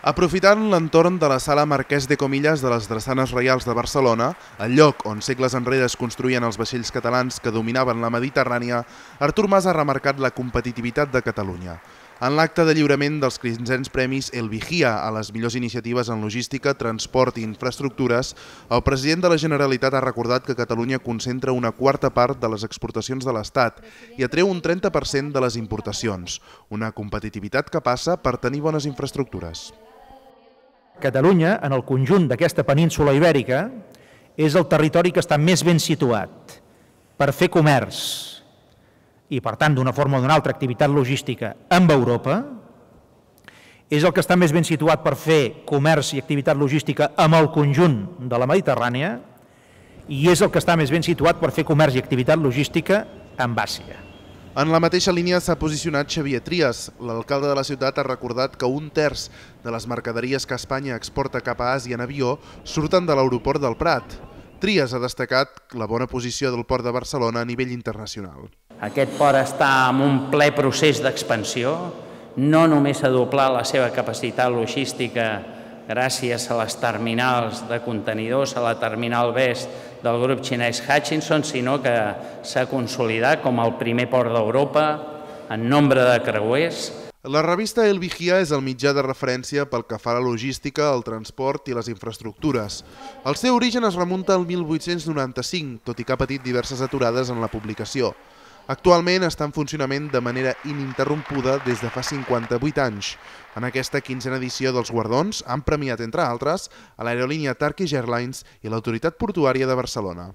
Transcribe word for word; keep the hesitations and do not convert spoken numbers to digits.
Aprofitant l'entorn de la sala Marquès de Comillas de les Drassanes Reials de Barcelona, el lloc on segles enrere es construïen els vaixells catalans que dominaven la Mediterrània, Artur Mas ha remarcat la competitivitat de Catalunya. En l'acte de lliurament dels quinzens premis El Vigía a les millors iniciatives en logística, transport i infraestructures, el president de la Generalitat ha recordat que Catalunya concentra una quarta part de les exportacions de l'Estat i atreu un trenta per cent de les importacions, una competitivitat que passa per tenir bones infraestructures. Catalunya, en el conjunt d'aquesta península ibèrica, és el territori que està més ben situat per fer comerç i, per tant, d'una forma o d'una altra activitat logística amb Europa, és el que està més ben situat per fer comerç i activitat logística amb el conjunt de la Mediterrània i és el que està més ben situat per fer comerç i activitat logística amb Àsia. En la mateixa línia s'ha posicionat Xavier Trias. L'alcalde de la ciutat ha recordat que un terç de les mercaderies que Espanya exporta cap a Àsia en avió surten de l'aeroport del Prat. Trias ha destacat la bona posició del port de Barcelona a nivell internacional. Aquest port està en un ple procés d'expansió, no només ha doblat la seva capacitat logística gràcies a les terminals de contenidors, a la terminal Best del grup xinès Hutchinson, sinó que s'ha consolidat com el primer port d'Europa en nombre de creuers. La revista El Vigía és el mitjà de referència pel que fa a la logística, el transport i les infraestructures. El seu origen es remunta al mil vuit-cents noranta-cinc, tot i que ha patit diverses aturades en la publicació. Actualment està en funcionament de manera ininterrompuda des de fa cinquanta-vuit anys. En aquesta quinzena edició dels guardons han premiat, entre altres, a l'aerolínia Turkish Airlines i l'Autoritat Portuària de Barcelona.